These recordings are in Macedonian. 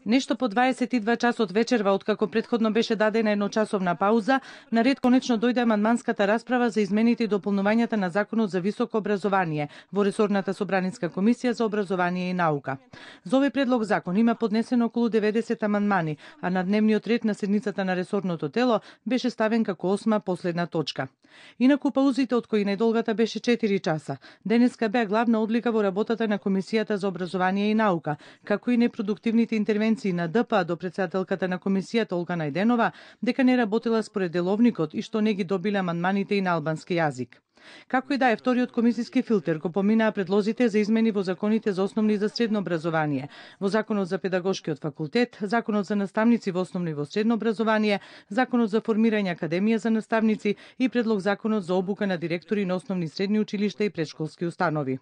Нешто по 22 часот вечерва, откако претходно беше дадена едночасовна пауза, на ред конечно дојде амандманската расправа за измените и дополнувањата на Законот за високо образование во ресорната собранинска комисија за образование и наука. За овој предлог закон има поднесено околу 90 амандмани, а на дневниот ред на седницата на ресорното тело беше ставен како 8 последна точка. Инаку паузите, од кои најдолгата беше 4 часа, денеска беа главна одлика во работата на Комисијата за образование и наука, како и непродуктивните интервенции на ДПА до претседателката на комисијата Олга Најденова дека не работела според деловникот и што не ги добиле амандманите и на албански јазик. Како и да е, вториот комисиски филтер го поминаа предлозите за измени во законите за основно и за средно образование, во Законот за педагошкиот факултет, Законот за наставници во основно и во средно образование, Законот за формирање академија за наставници и предлог Законот за обука на директори на основни и средни училишта и претшколски установи.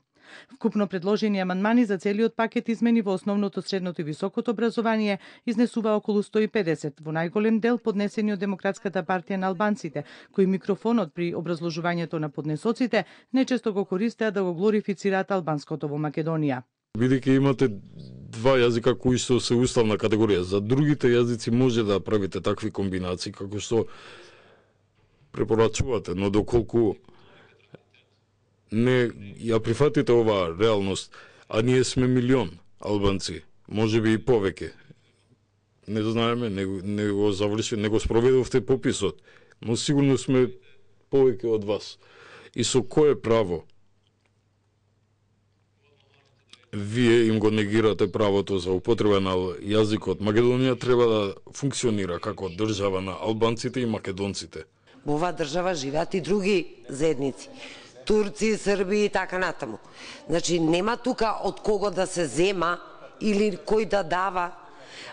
Вкупно предложени амандмани за целиот пакет измени во основното, средното и високото образование изнесува околу 150, во најголем дел поднесени од Демократската партија на албанците, кои микрофонот при образложувањето на поднесоците нечесто го користеа да го глорифицираат албанското во Македонија. Бидејќи имате два јазика кои што се уставна категорија, за другите јазици може да правите такви комбинации како што препорачувате, но доколку не ја прифатите оваа реалност, а ние сме милион албанци, може би и повеќе. Не знаеме, не го заврши, не го спроведовте пописот, но сигурно сме повеќе од вас. И со кое право вие им го негирате правото за употреба на јазикот? Македонија треба да функционира како држава на албанците и македонците. Во оваа држава живеат и други заедници. Турци, Срби и така натаму. Значи, нема тука од кого да се зема или кој да дава.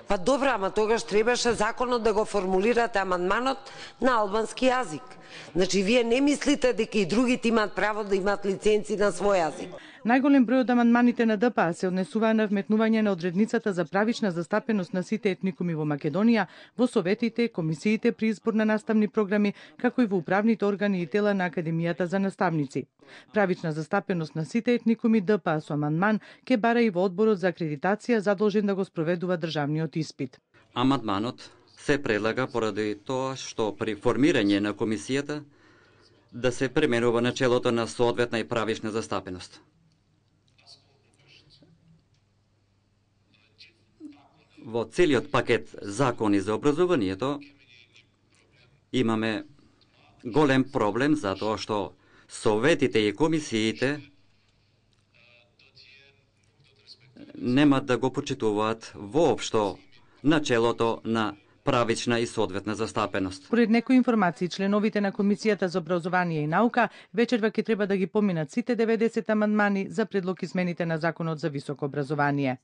Па добра, ама тогаш требаше законот да го формулирате амандманот на албански јазик. Значи, вие не мислите дека и другите имаат право да имаат лиценци на свој јазик. Најголем број од амандманите на ДПА се однесуваа на вметнување на одредницата за правична застапеност на сите етникуми во Македонија, во советите, комисиите при избор на наставни програми, како и во управните органи и тела на Академијата за наставници. Правична застапеност на сите етникуми ДПА со амандман ке бара и во одборот за акредитација задолжен да го спроведува државниот испит. Амандманот се предлага поради тоа што при формирање на комисијата да се пременува начелото на соодветна и правична застапеност. Во целиот пакет закони за образованието имаме голем проблем затоа што советите и комисиите нема да го почитуваат воопшто начелото на правична и соодветна застапеност. Според некои информации, членовите на Комисијата за образование и наука вечерва ќе треба да ги поминат сите 90 амандмани за предлог измените на Законот за високо образование.